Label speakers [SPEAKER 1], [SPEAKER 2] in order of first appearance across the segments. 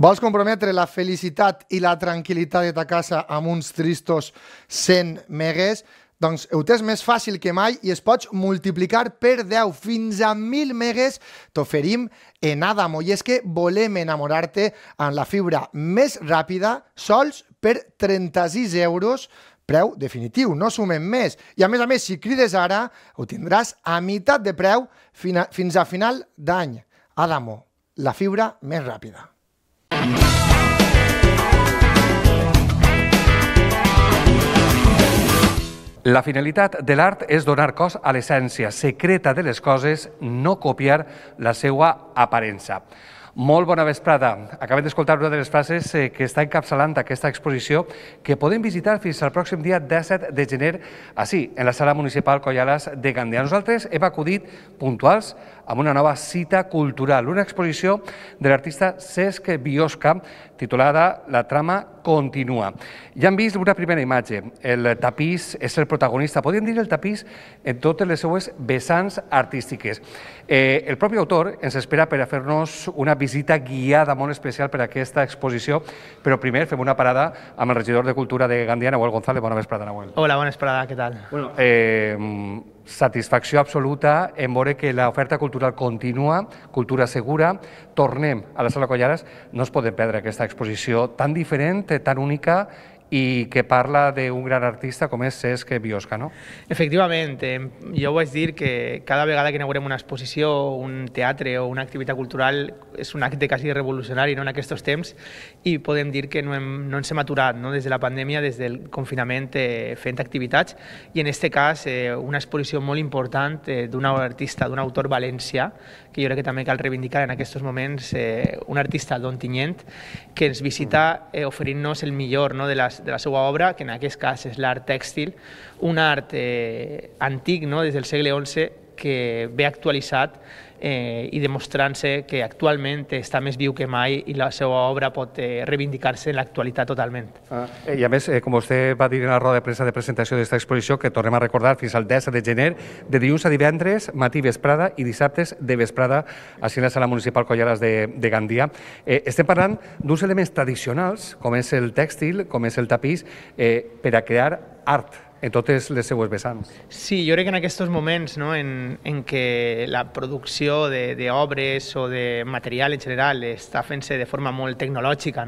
[SPEAKER 1] Vols comprometre la felicitat i la tranquil·litat de ta casa amb uns tristos 100 megues? Doncs ho tens més fàcil que mai i es pots multiplicar per 10 fins a 1.000 megues t'oferim en Adamo. I és que volem enamorar-te amb la fibra més ràpida sols per 36 euros, preu definitiu, no sumem més. I a més, si crides ara, ho tindràs a meitat de preu fins a final d'any. Adamo, la fibra més ràpida.
[SPEAKER 2] La finalitat de l'art és donar cos a l'essència secreta de les coses, no copiar la seva aparença. Molt bona vesprada. Acabem d'escoltar una de les frases que està encapçalant aquesta exposició que podem visitar fins al pròxim dia 17 de gener, així, en la Sala Municipal Collales de Gandia. Nosaltres hem acudit puntuals amb una nova cita cultural, una exposició de l'artista Cesc Biosca, titulada La trama continua. Ja hem vist una primera imatge. El tapís és el protagonista. Podríem dir el tapís en totes les seues vessants artístiques. El propi autor ens espera per a fer-nos una visita guiada molt especial per a aquesta exposició, però primer fem una parada amb el regidor de Cultura de Gandia, Nahuel González. Bona vesprada, Nahuel.
[SPEAKER 3] Hola, bona vesprada, què tal?
[SPEAKER 2] Satisfacció absoluta en veure que l'oferta cultural continua, cultura segura. Tornem a la Sala Collales, no es podem perdre aquesta exposició tan diferent, tan única i que parla d'un gran artista com és Cesc Biosca, no?
[SPEAKER 3] Efectivament, jo vaig dir que cada vegada que inaugurem una exposició, un teatre o una activitat cultural és un acte quasi revolucionari en aquests temps i podem dir que no ens hem aturat des de la pandèmia, des del confinament fent activitats i en aquest cas una exposició molt important d'un artista, d'un autor valencià que jo crec que també cal reivindicar en aquests moments, un artista d'Ontinyent que ens visita oferint-nos el millor de la seva obra, que en aquest cas és l'art tèxtil, un art antic des del segle XI que ve actualitzat i demostrant-se que actualment està més viu que mai i la seva obra pot reivindicar-se en l'actualitat totalment.
[SPEAKER 2] I a més, com vostè va dir en la roda de premsa de presentació d'aquesta exposició, que tornem a recordar fins al 10 de gener, de dilluns a divendres, matí vesprada i dissabtes de vesprada, així en la Sala Municipal Collales de Gandia. Estem parlant d'uns elements tradicionals, com és el tèxtil, com és el tapís, per a crear art en totes les seues vessants.
[SPEAKER 3] Sí, jo crec que en aquests moments en què la producció d'obres o de material en general està fent-se de forma molt tecnològica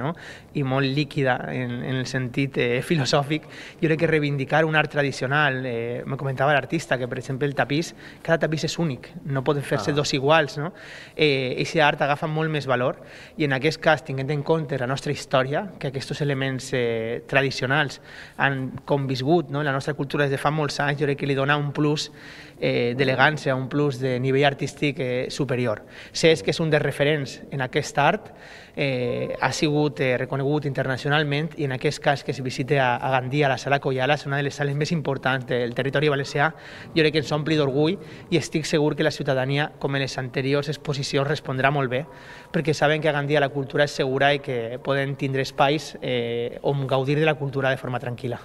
[SPEAKER 3] i molt líquida en el sentit filosòfic, jo crec que reivindicar un art tradicional, me comentava l'artista que per exemple el tapís, cada tapís és únic, no poden fer-se dos iguals, aquest art agafa molt més valor i en aquest cas, tinguent en compte la nostra història, que aquests elements tradicionals han conviscut en la nostra cultura des de fa molts anys, jo crec que li dona un plus d'elegància, un plus de nivell artístic superior. Cesc és un dels referents en aquest art, ha sigut reconegut internacionalment i en aquest cas que es visita a Gandia, a la Sala Collales, una de les sales més importants del territori valencià, jo crec que ens ompli d'orgull i estic segur que la ciutadania, com en les anteriors exposicions, respondrà molt bé, perquè saben que a Gandia la cultura és segura i que poden tindre espais on gaudir de la cultura de forma tranquil·la.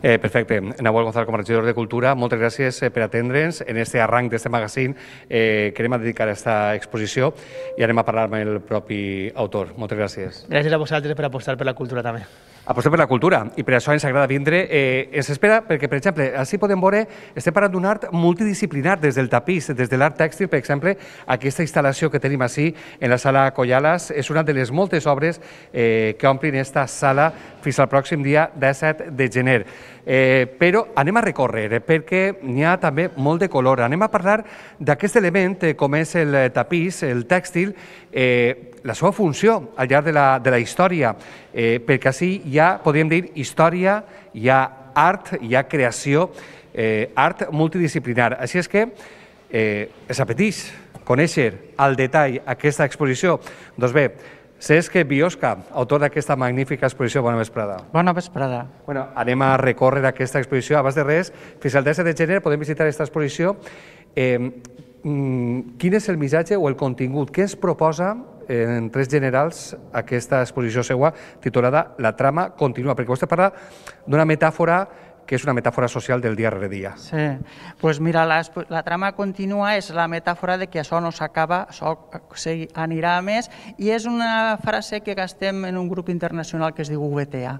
[SPEAKER 2] Perfecte. Nahuel González, com a regidor de Cultura, moltes gràcies per atendre'ns en aquest arranc d'aquest magazín que anem a dedicar a aquesta exposició i anem a parlar amb el propi autor. Moltes gràcies.
[SPEAKER 3] Gràcies a vosaltres per apostar per la cultura també.
[SPEAKER 2] Apostem per la cultura i per això ens agrada vindre. Ens espera perquè, per exemple, així podem veure, estem parlant d'un art multidisciplinar, des del tapís, des de l'art tèxtil, per exemple, aquesta instal·lació que tenim així en la Sala Collales és una de les moltes obres que omplin aquesta sala fins al pròxim dia 17 de gener. Però anem a recórrer perquè n'hi ha també molt de color. Anem a parlar d'aquest element com és el tapís, el tèxtil, la seva funció al llarg de la història, perquè així hi ha, podríem dir, història, hi ha art, hi ha creació, art multidisciplinar. Així és que es apeteix conèixer al detall aquesta exposició. Doncs bé, Cesc Biosca, autor d'aquesta magnífica exposició. Bona vesprada.
[SPEAKER 4] Bona vesprada.
[SPEAKER 2] Anem a recórrer aquesta exposició. Abans de res, fins al 10 de gener podem visitar aquesta exposició. Quin és el missatge o el contingut? Què es proposa en trets generals aquesta exposició seua titulada La trama continua? Perquè vostè parla d'una metàfora que és una metàfora social del dia rere dia.
[SPEAKER 4] Sí, doncs mira, la trama contínua és la metàfora de que això no s'acaba, això anirà a més, i és una frase que gastem en un grup internacional que es diu VTA.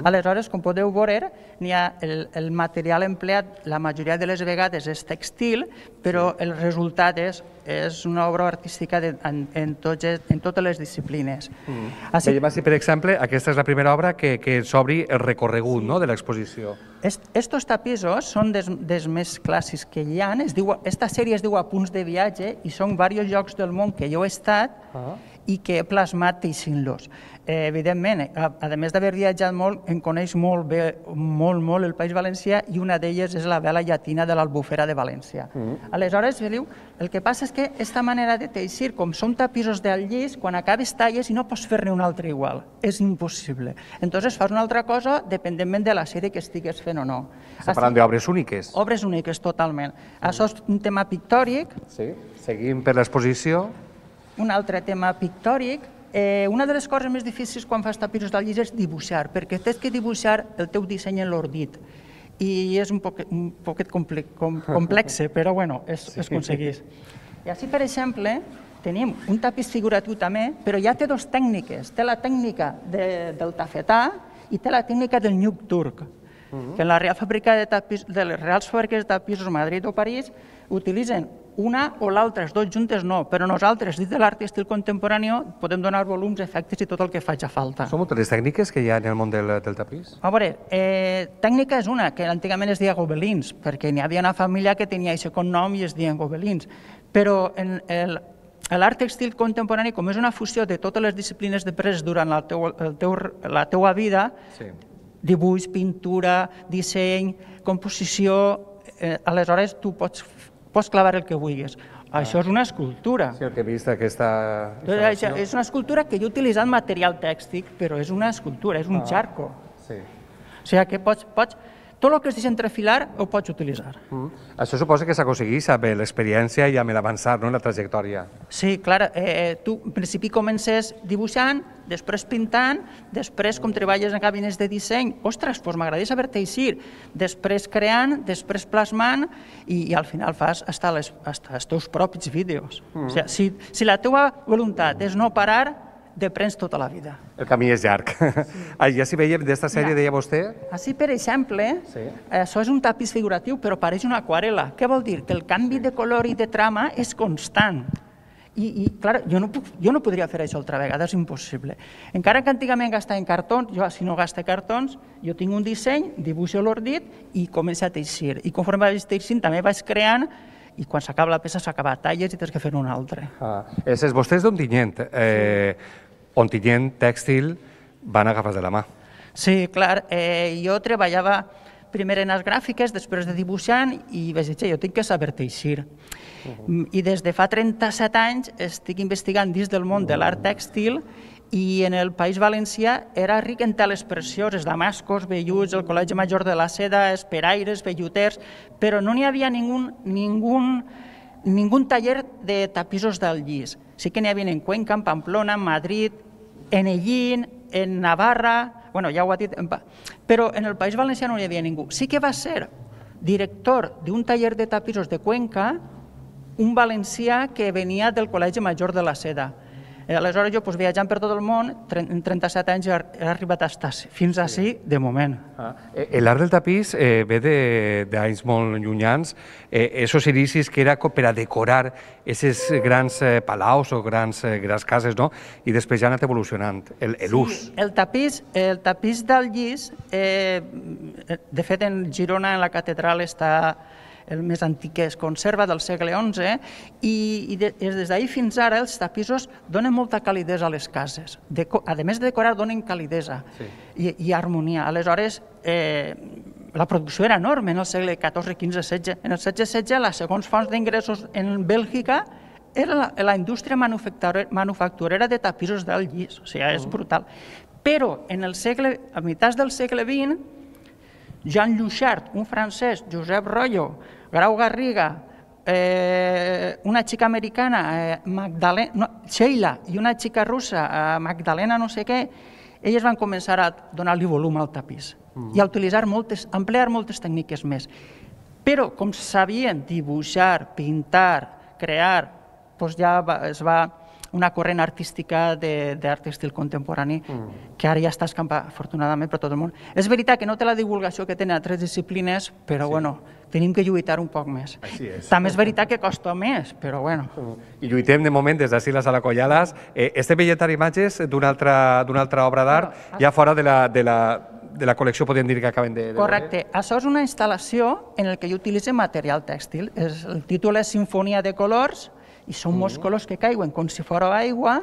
[SPEAKER 4] Aleshores, com podeu veure, el material empleat la majoria de les vegades és textil, però el resultat és una obra artística en totes les disciplines.
[SPEAKER 2] Veiem així, per exemple, aquesta és la primera obra que s'obri el recorregut de l'exposició.
[SPEAKER 4] Estos tapissos són dels més clàssics que hi ha. Esta sèrie es diu Apunts de viatge i són diversos llocs del món que jo he estat i que he plasmat teixint-los. Evidentment, a més d'haver viatjat molt, em coneix molt bé, molt el País Valencià, i una d'elles és la vela llatina de l'Albufera de València. Aleshores, el que passa és que aquesta manera de teixir, com són tapissos del llis, quan acabes talles i no pots fer-ne un altre igual. És impossible. Entonces fas una altra cosa dependentment de la sèrie que estigues fent o no.
[SPEAKER 2] Estem parlant d'obres úniques.
[SPEAKER 4] Obres úniques, totalment. Això és un tema pictòric.
[SPEAKER 2] Sí, seguim per l'exposició.
[SPEAKER 4] Un altre tema pictòric. Una de les coses més difícils quan fas tapissos del llis és dibuixar, perquè tens que dibuixar el teu disseny en l'ordit. I és un poquet complex, però bueno, es aconsegueix. I així, per exemple, tenim un tapís figuratiu també, però ja té dues tècniques. Té la tècnica del tafetà i té la tècnica del nyuc turc, que en la Real Fàbrica de les Reals Fàbriques de Tapissos Madrid o París utilitzen una o l'altra, els dos juntes no, però nosaltres, dins de l'art i estil contemporani, podem donar volums, efectes i tot el que faci falta.
[SPEAKER 2] Són moltes les tècniques que hi ha en el món del tapís?
[SPEAKER 4] A veure, tècnica és una, que antigament es deia gobelins, perquè n'hi havia una família que tenia aquest cognom i es deien gobelins, però l'art textil contemporani, com és una fusió de totes les disciplines després durant la teua vida, dibuix, pintura, disseny, composició, aleshores tu pots clavar el que vulguis. Això és una escultura.
[SPEAKER 2] Sí, el que he vist aquesta...
[SPEAKER 4] És una escultura que jo he utilitzat material tèxtil, però és una escultura, és un xarco.
[SPEAKER 2] Sí.
[SPEAKER 4] O sigui que pots... Tot el que es deixa entrefilar ho pots utilitzar.
[SPEAKER 2] Això suposa que s'aconsegueix amb l'experiència i amb l'avançar en la trajectòria.
[SPEAKER 4] Sí, clar. Tu, en principi, comences dibuixant, després pintant, després, com treballes en gabinets de disseny, ostres, doncs m'agradaria saber teixir, després creant, després plasmant i al final fas fins els teus propis vídeos. O sigui, si la teva voluntat és no parar, deprens tota la vida.
[SPEAKER 2] El camí és llarg. Ja si veiem d'esta sèrie, deia vostè?
[SPEAKER 4] Així, per exemple, això és un tapís figuratiu, però pareix una aquarel·la. Què vol dir? Que el canvi de color i de trama és constant. I, clar, jo no podria fer això altra vegada, és impossible. Encara que antigament gastava en cartons, jo si no gasto cartons, jo tinc un disseny, dibuixo l'ordit i començo a teixir. I conforme vaig teixint també vaig creant i quan s'acaba la peça s'acaba talles i tens que fer una altra.
[SPEAKER 2] Vostè és d'Ontinyent. Ontinyent, tèxtil, van agafats de la mà.
[SPEAKER 4] Sí, clar. Jo treballava primer en les gràfiques, després de dibuixant, i vaig dir, jo tinc que saber teixir. I des de fa 37 anys estic investigant dins del món de l'art tèxtil i en el País Valencià era ric en teles precioses, damascos, velluts, el Col·legi Major de la Seda, esperaires, velluters, però no n'hi havia ningún taller de tapissos del llis. Sí que n'hi havia en Cuenca, en Pamplona, en Madrid, en Ellín, en Navarra, bueno, ja ho ha dit, però en el País Valencià no hi havia ningú. Sí que va ser director d'un taller de tapissos de Cuenca un valencià que venia del Col·legi Major de la Seda. Aleshores jo, viatjant per tot el món, en 37 anys he arribat a estar fins ací de moment.
[SPEAKER 2] L'art del tapís ve d'anys molt llunyans, esos inicis que era per a decorar aquests grans palaus o grans cases, i després ja ha anat evolucionant l'ús.
[SPEAKER 4] El tapís del llis, de fet en Girona, en la catedral, està el més antic que es conserva, del segle XI, i des d'ahir fins ara els tapissos donen molta calidesa a les cases. A més de decorar, donen calidesa i harmonia. Aleshores, la producció era enorme en el segle XIV, XV, XVI. En el XVI-XVI, les segons fonts d'ingressos en Bèlgica era la indústria manufacturera de tapissos del llis. O sigui, és brutal. Però a meitats del segle XX, Jean Louchard, un francès, Josep Royo, Grau Garriga, una xica americana, Sheila, i una xica russa, Magdalena no sé què, elles van començar a donar-li volum al tapís i a emplear moltes tècniques més. Però, com sabien dibuixar, pintar, crear, doncs ja es va una corrent artística d'art tèxtil contemporani que ara ja està escampada, afortunadament, per tot el món. És veritat que no té la divulgació que tenen altres disciplines, però bueno, tenim que lluitar un poc més. També és veritat que costa més, però bueno.
[SPEAKER 2] I lluitem de moment des d'ací la Sala Collales. Estem veient imatges d'una altra obra d'art, ja fora de la col·lecció, podríem dir que acaben de...
[SPEAKER 4] Correcte. Això és una instal·lació en la que jo utilitzo material tèxtil. El títol és Sinfonia de colors, i són molts colors que caiguen com si fos aigua,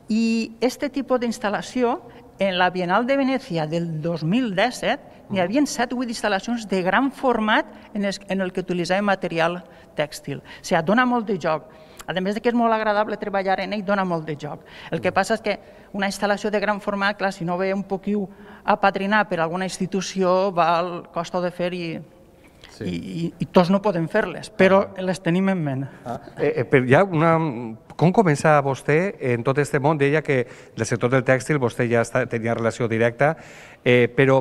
[SPEAKER 4] i aquest tipus d'instal·lació, en la Bienal de Venècia del 2017, n'hi havia 7 o 8 instal·lacions de gran format en el que utilitzàvem material tèxtil. O sigui, dona molt de joc. A més que és molt agradable treballar en ell, dona molt de joc. El que passa és que una instal·lació de gran format, clar, si no ve un poquiu apadrinar per alguna institució, costa de fer i tots no podem fer-les, però les tenim en ment.
[SPEAKER 2] Com comença vostè en tot aquest món? Deia que del sector del tèxtil vostè ja tenia relació directa, però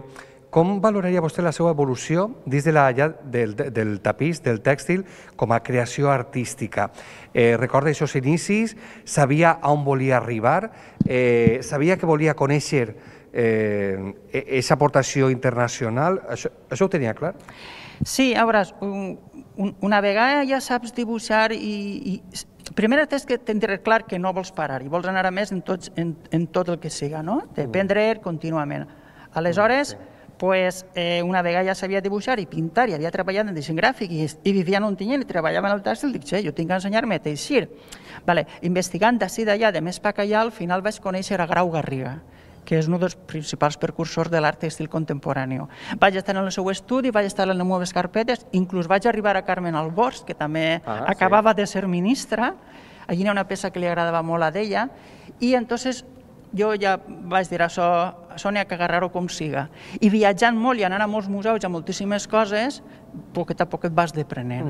[SPEAKER 2] com valoraria vostè la seva evolució dins del tapís, del tèxtil, com a creació artística? Recorda aquests inicis? Sabia on volia arribar? Sabia que volia conèixer aquesta aportació internacional? Això ho tenia clar?
[SPEAKER 4] Sí, a veure, una vegada ja saps dibuixar i primer tens que tindre clar que no vols parar i vols anar a més en tot el que siga, no? Dependre contínuament. Aleshores, una vegada ja sabia dibuixar i pintar i havia treballat en disseny gràfic i vivia en Ontinyent i treballava en el tèxtil, dic, jo tinc que ensenyar-me a teixir. Investigant d'ací d'allà, de més pa que allà, al final vaig conèixer a Grau Garriga, que és un dels principals precursors de l'art tèxtil contemporani. Vaig estar en el seu estudi, vaig estar en les meves carpetes, inclús vaig arribar a Carmen Albors, que també acabava de ser ministra, allí hi ha una peça que li agradava molt a ella, i entonces jo ja vaig dir això n'hi ha que agarrar-ho com siga. I viatjant molt i anant a molts museus i a moltíssimes coses, poquet a poquet vas deprenent.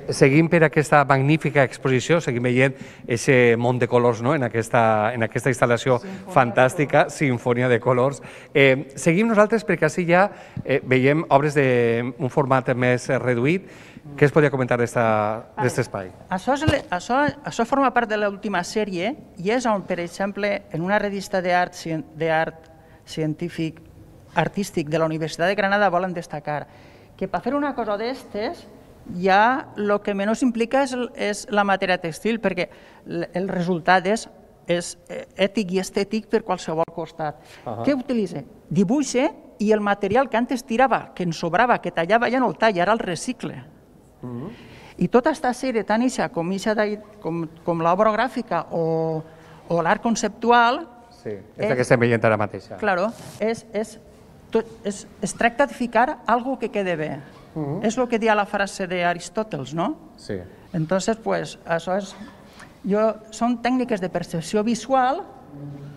[SPEAKER 2] Seguim per aquesta magnífica exposició, seguim veient aquest món de colors en aquesta instal·lació fantàstica, Sinfonia de colors. Seguim nosaltres perquè així ja veiem obres d'un format més reduït. Què es podria comentar d'aquest espai?
[SPEAKER 4] Això forma part de l'última sèrie i és on, per exemple, en una revista d'art científic artístic de la Universitat de Granada volen destacar que per fer una cosa d'estes ja el que menys implica és la matèria tèxtil, perquè el resultat és ètic i estètic per qualsevol costat. Què utilitza? Dibuixa i el material que antes tirava, que ens sobrava, que tallava, ja no el talla, ara el recicle. I tota aquesta sèrie, tant com l'obra gràfica o l'art conceptual...
[SPEAKER 2] Sí, és la que estem veient ara mateix.
[SPEAKER 4] Claro, es tracta de ficar algo que quede bé. És el que deia la frase d'Aristòteles, no?
[SPEAKER 2] Sí.
[SPEAKER 4] Entonces, pues, això és... Són tècniques de percepció visual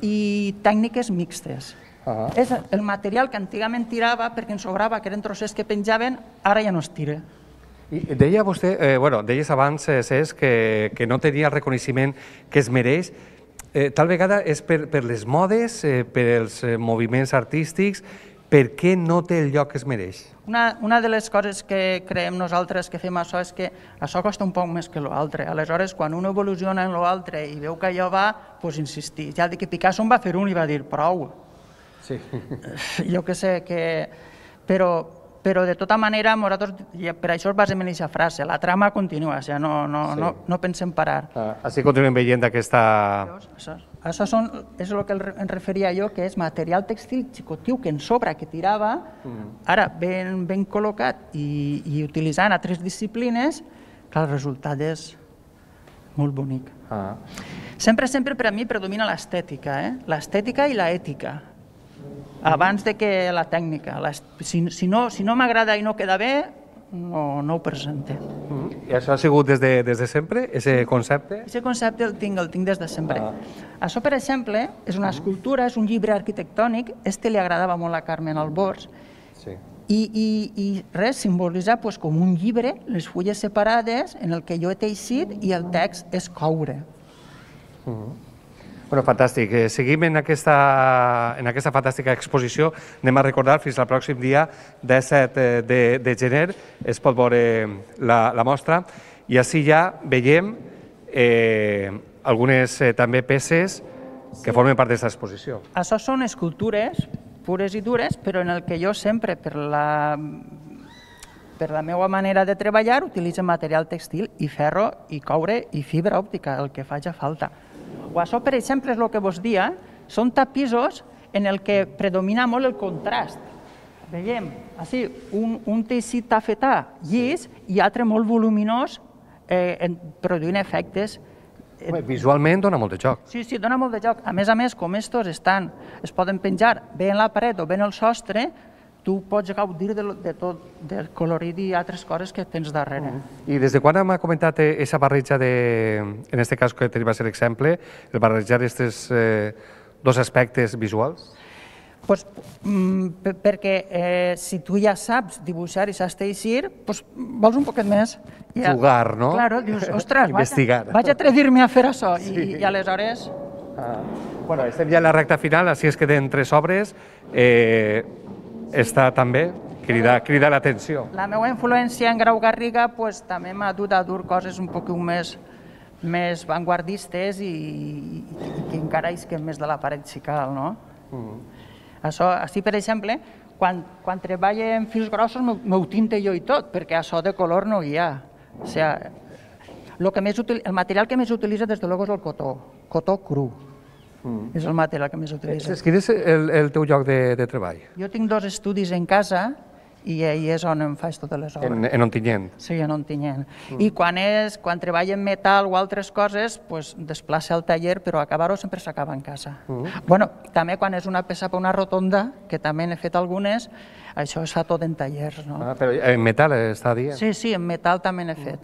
[SPEAKER 4] i tècniques mixtes. És el material que antigament tirava perquè ens sobrava, que eren trossets que penjaven, ara ja no es tira.
[SPEAKER 2] Deia vostè, deies abans, Cesc, que no tenia el reconeixement que es mereix. Tal vegada és per les modes, per els moviments artístics, per què no té el lloc que es mereix?
[SPEAKER 4] Una de les coses que creiem nosaltres que fem això és que això costa un poc més que l'altre. Aleshores, quan un evoluciona en l'altre i veu que allò va, doncs insistir. Ja dic que Picasso en va fer un i va dir prou.
[SPEAKER 2] Sí.
[SPEAKER 4] Jo que sé que... Però de tota manera, nosaltres per això es basem en aquesta frase, la trama continua, o sigui, no pensem parar.
[SPEAKER 2] Així continuem veient aquesta...
[SPEAKER 4] Això és el que em referia jo, que és material tèxtil xicotiu que en sobra, que tirava, ara ben col·locat i utilitzant altres disciplines, clar, el resultat és molt bonic. Sempre per a mi predomina l'estètica, l'estètica i l'ètica, abans de que la tècnica. Si no m'agrada i no queda bé, no ho presente.
[SPEAKER 2] I això ha sigut des de sempre, aquest concepte?
[SPEAKER 4] Aquest concepte el tinc des de sempre. Això, per exemple, és una escultura, és un llibre arquitectònic, li agradava molt a Carmen Albors, i res, simbolitzar com un llibre, les fulles separades, en el que jo he teixit i el text és coure.
[SPEAKER 2] Bueno, fantàstic. Seguim en aquesta fantàstica exposició. Anem a recordar fins al pròxim dia 17 de gener. Es pot veure la mostra. I així ja veiem algunes també peces que formen part d'aquesta exposició.
[SPEAKER 4] Això són escultures pures i dures, però en el que jo sempre, per la meva manera de treballar, utilitzo material textil i ferro i coure i fibra òptica, el que faci falta. O això, per exemple, és el que vos dia, són tapissos en el que predomina molt el contrast. Veiem, així, un teixit tafetà llis i altre molt voluminós, produint efectes.
[SPEAKER 2] Visualment dona molt de joc.
[SPEAKER 4] Sí, dona molt de joc. A més, com estos es poden penjar bé en la paret o bé en el sostre, tu pots gaudir de tot, del colorit i altres coses que tens darrere.
[SPEAKER 2] I des de quan m'ha comentat aquesta barreja en aquest cas que tenim a ser l'exemple, el barrejar aquests dos aspectes visuals?
[SPEAKER 4] Perquè si tu ja saps dibuixar i saps teixir, vols un poquet més.
[SPEAKER 2] Jugar, no?
[SPEAKER 4] Claro, dius, ostres, vaig
[SPEAKER 2] atrevir-me
[SPEAKER 4] a fer això. I aleshores...
[SPEAKER 2] Bueno, estem ja en la recta final, així es queden 3 obres. Està també, crida l'atenció.
[SPEAKER 4] La meva influència en Grau Garriga també m'ha dut a dur coses un poc més vanguardistes i que encara isquen més de la paret si cal, no? Això, així, per exemple, quan treballo en fils grossos m'ho tinte jo i tot, perquè això de color no hi ha. O sigui, el material que més utilitza, des de luego, és el cotó cru. És el material que més utilitza.
[SPEAKER 2] Quin és el teu lloc de treball?
[SPEAKER 4] Jo tinc 2 estudis en casa i ahí és on em faig totes les obres.
[SPEAKER 2] En Ontinyent?
[SPEAKER 4] Sí, en Ontinyent. I quan treballo en metal o altres coses, desplaça al taller, però acabar-ho sempre s'acaba en casa. Bueno, també quan és una peça per una rotonda, que també n'he fet algunes, això es fa tot en tallers, no?
[SPEAKER 2] Però en metal està dient?
[SPEAKER 4] Sí, en metal també n'he fet.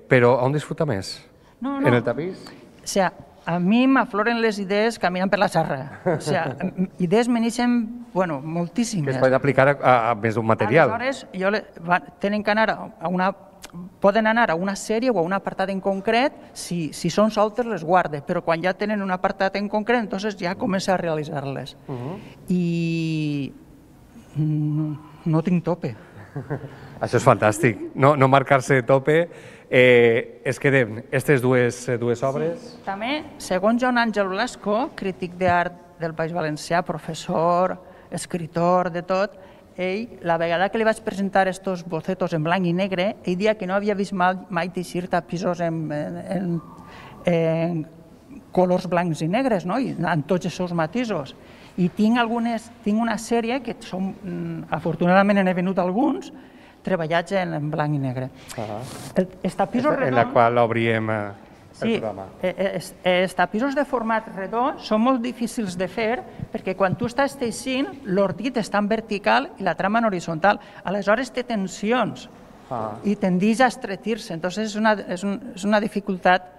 [SPEAKER 2] Però on disfruta més? En el tapís?
[SPEAKER 4] O sigui, a mi m'afloren les idees caminant per la xarra. O sigui, idees me n'ixen, moltíssimes.
[SPEAKER 2] Que es poden aplicar a més d'un material.
[SPEAKER 4] Aleshores, poden anar a una sèrie o a un apartat en concret, si són soltes les guarde, però quan ja tenen un apartat en concret, entonces ja comença a realitzar-les. I no tinc tope.
[SPEAKER 2] Això és fantàstic, no marcar-se tope. Es quedem aquestes dues obres.
[SPEAKER 4] Sí. També, segons Joan Àngel Blasco, crític d'art del País Valencià, professor, escritor, de tot, ell, la vegada que li vaig presentar aquests bocetos en blanc i negre, ell deia que no havia vist mai teixir tapissos en colors blancs i negres, no? I en tots els seus matisos. I tinc una sèrie que afortunadament n'he venut alguns, treballats en blanc i negre. Els tapissos redons...
[SPEAKER 2] En la qual obríem el programa.
[SPEAKER 4] Sí, els tapissos de format redó són molt difícils de fer perquè quan tu estàs teixint, l'ordit està en vertical i la trama en horitzontal. Aleshores té tensions i tendeix a estretir-se. Entonces és una dificultat,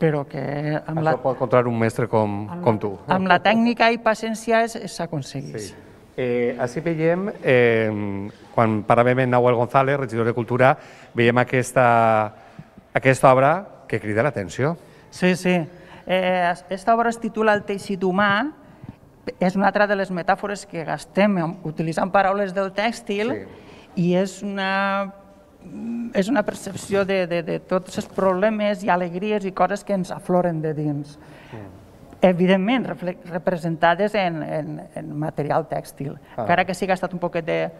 [SPEAKER 4] però que...
[SPEAKER 2] Això pot controlar un mestre com tu.
[SPEAKER 4] Amb la tècnica i paciència s'aconsegueix.
[SPEAKER 2] Així veiem, quan parlàvem amb Nahuel González, regidor de Cultura, veiem aquesta obra que crida l'atenció.
[SPEAKER 4] Sí. Aquesta obra es titula El teixit humà, és una altra de les metàfores que gastem utilitzant paraules del tèxtil i és una percepció de tots els problemes i alegries i coses que ens afloren de dins. Evidentment, representades en material tèxtil, encara que sigui estat un poquet de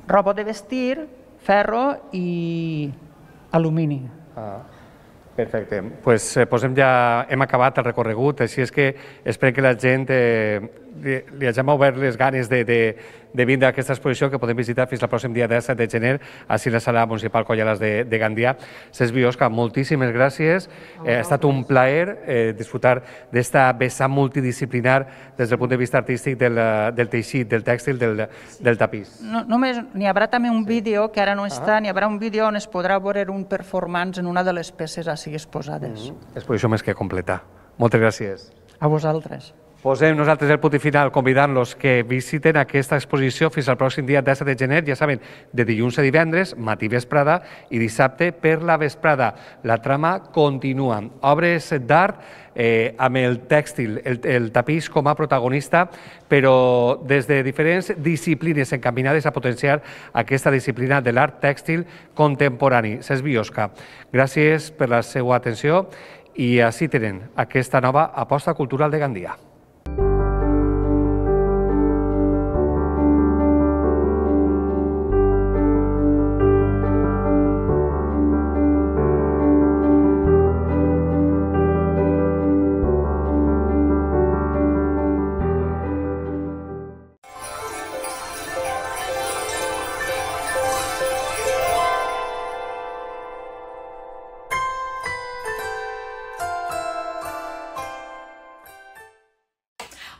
[SPEAKER 4] roba de vestir, ferro i alumini.
[SPEAKER 2] Perfecte. Hem acabat el recorregut, així és que esperem que la gent li hagin obert les ganes de vindre a aquesta exposició que podem visitar fins al pròxim dia 17 de gener així a la sala municipal Collales de Gandia. Cesc Biosca, moltíssimes gràcies. Ha estat un plaer disfrutar d'esta vessant multidisciplinar des del punt de vista artístic del teixit, del tèxtil, del tapís.
[SPEAKER 4] Només n'hi haurà també un vídeo, que ara no està, n'hi haurà un vídeo on es podrà veure un performance en una de les peces així exposades.
[SPEAKER 2] Exposició més que completa. Moltes gràcies.
[SPEAKER 4] A vosaltres.
[SPEAKER 2] Posem nosaltres el punt i final convidant-los que visiten aquesta exposició fins al pròxim dia 17 de gener, ja saben, de dilluns a divendres, matí vesprada i dissabte per la vesprada. La trama continua. Obres d'art amb el tèxtil, el tapís com a protagonista, però des de diferents disciplines encaminades a potenciar aquesta disciplina de l'art tèxtil contemporani. Cesc Biosca, gràcies per la seva atenció i així tenen aquesta nova aposta cultural de Gandia.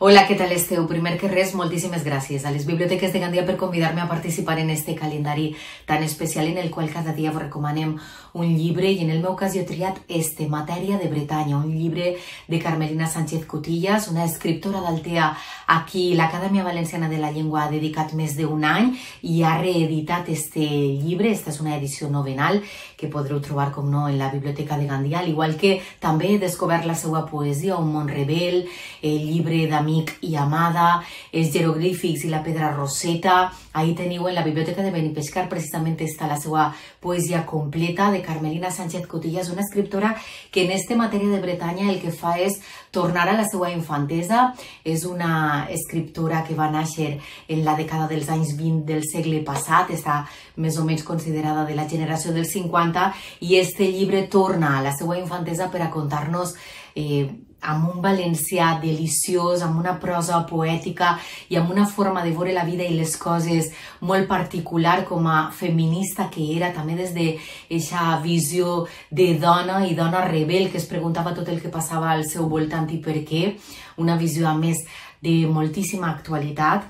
[SPEAKER 5] Hola, què tal esteu? Primer que res, moltíssimes gràcies a les biblioteques de Gandia per convidar-me a participar en este calendari tan especial en el qual cada dia vos recomanem un llibre i en el meu cas jo he triat este, Matèria de Bretanya, un llibre de Carmelina Sánchez Cotillas, una escriptora d'Altea a qui l'Acadèmia Valenciana de la Llengua ha dedicat més d'un any i ha reeditat este llibre. Esta és una edició novenal que podreu trobar, com no, en la biblioteca de Gandia, al igual que també he descobert la seva poesia, Un món rebel, el llibre d'Amic i Amada, els jeroglífics i la pedra roseta. Ahí teniu en la biblioteca de Benipescar, precisament està la seva poesia completa de Carmelina Sánchez Cotillas, una escriptora que en este Matèria de Bretanya el que fa és tornar a la seva infantesa. És una escriptora que va néixer en la dècada dels anys 20 del segle passat, està més o menys considerada de la generació dels 50, i este llibre torna a la seva infantesa per a contar-nos amb un valencià deliciós, amb una prosa poètica i amb una forma de veure la vida i les coses molt particular com a feminista que era, també des d'aquesta visió de dona i dona rebel que es preguntava tot el que passava al seu voltant i per què, una visió a més de moltíssima actualitat.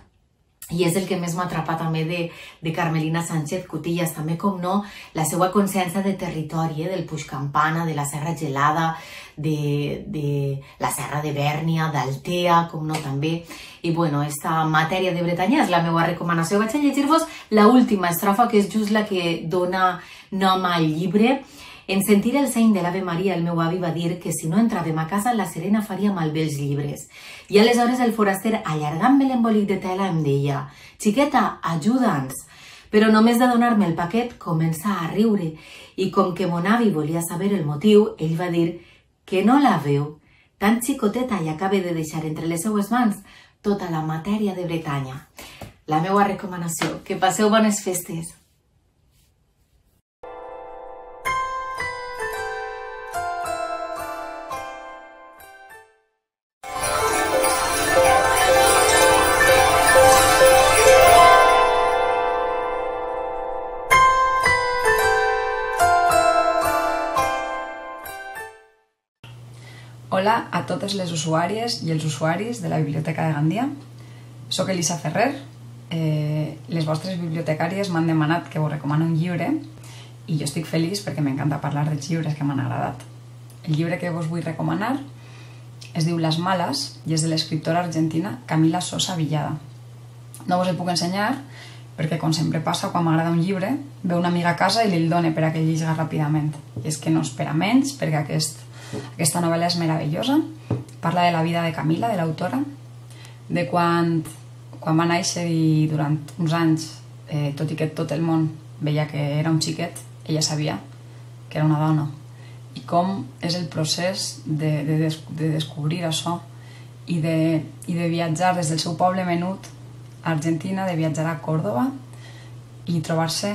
[SPEAKER 5] I és el que més m'ha atrapat també de Carmelina Sánchez Cotillas, també com no, la seva consciència de territori, del Puig Campana, de la Serra Gelada, de la Serra de Bèrnia, d'Altea, com no també. I bueno, esta Matèria de Bretanya és la meva recomanació. Vaig a llegir-vos l'última estrofa, que és just la que dona nom al llibre. En sentir el seny de l'Ave Maria, el meu avi va dir que si no entràvem a casa, la Serena faria malbé els llibres. I aleshores el foraster, allargant-me l'embolic de tela, em deia: «Xiqueta, ajuda'ns». Però només de donar-me el paquet comença a riure i com que mon avi volia saber el motiu, ell va dir que no la veu, tan xicoteta, i acabe de deixar entre les seues mans tota la Matèria de Bretanya. La meva recomanació. Que passeu bones festes.
[SPEAKER 6] Hola a totes les usuàries i els usuaris de la Biblioteca de Gandia. Soc Elisa Ferrer. Les vostres bibliotecàries m'han demanat que vos recomano un llibre i jo estic feliç perquè m'encanta parlar dels llibres que m'han agradat. El llibre que vos vull recomanar es diu Las Malas i és de l'escriptora argentina Camila Sosa Villada. No vos el puc ensenyar perquè, com sempre passa, quan m'agrada un llibre, ve una amiga a casa i li'l done per a que llegiga ràpidament. I és que no espera menys perquè aquesta novel·la és meravellosa. Parla de la vida de Camila, de l'autora, de quan va néixer i durant uns anys, tot i que tot el món veia que era un xiquet, ella sabia que era una dona. I com és el procés de descobrir això i de viatjar des del seu poble menut a Argentina, de viatjar a Còrdova i trobar-se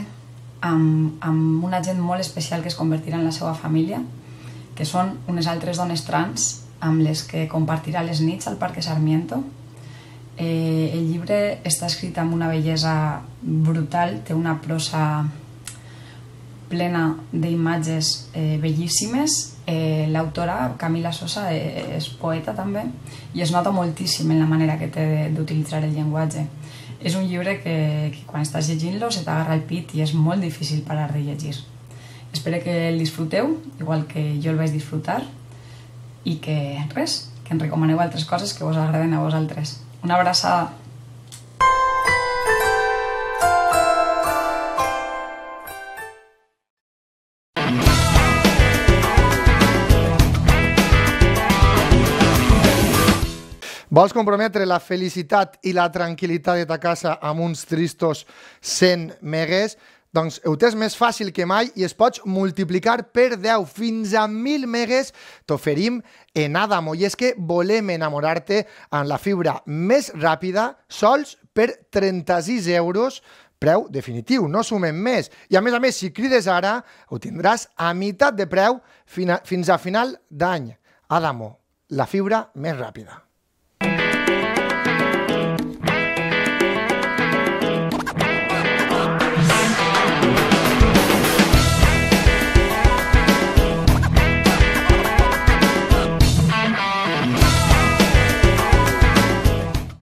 [SPEAKER 6] amb una gent molt especial que es convertirà en la seva família, que són unes altres dones trans amb les que compartirà les nits al Parque Sarmiento. El llibre està escrit amb una bellesa brutal, té una prosa plena d'imatges bellíssimes. L'autora, Camila Sosa, és poeta també i es nota moltíssim en la manera que té d'utilitzar el llenguatge. És un llibre que quan estàs llegint-lo se t'agarra el pit i és molt difícil parar de llegir. Espero que el disfruteu, igual que jo el vaig disfrutar, i que res, que em recomaneu altres coses que vos agraden a vosaltres. Una abraçada!
[SPEAKER 1] Vols comprometre la felicitat i la tranquil·litat de ta casa amb uns tristos 100 megues? Doncs ho tens més fàcil que mai i es pots multiplicar per 10 fins a 1.000 megues t'oferim en Adamo. I és que volem enamorar-te amb la fibra més ràpida sols per 36 euros, preu definitiu, no sumem més. I a més, si crides ara, ho tindràs a meitat de preu fins a final d'any. Adamo, la fibra més ràpida.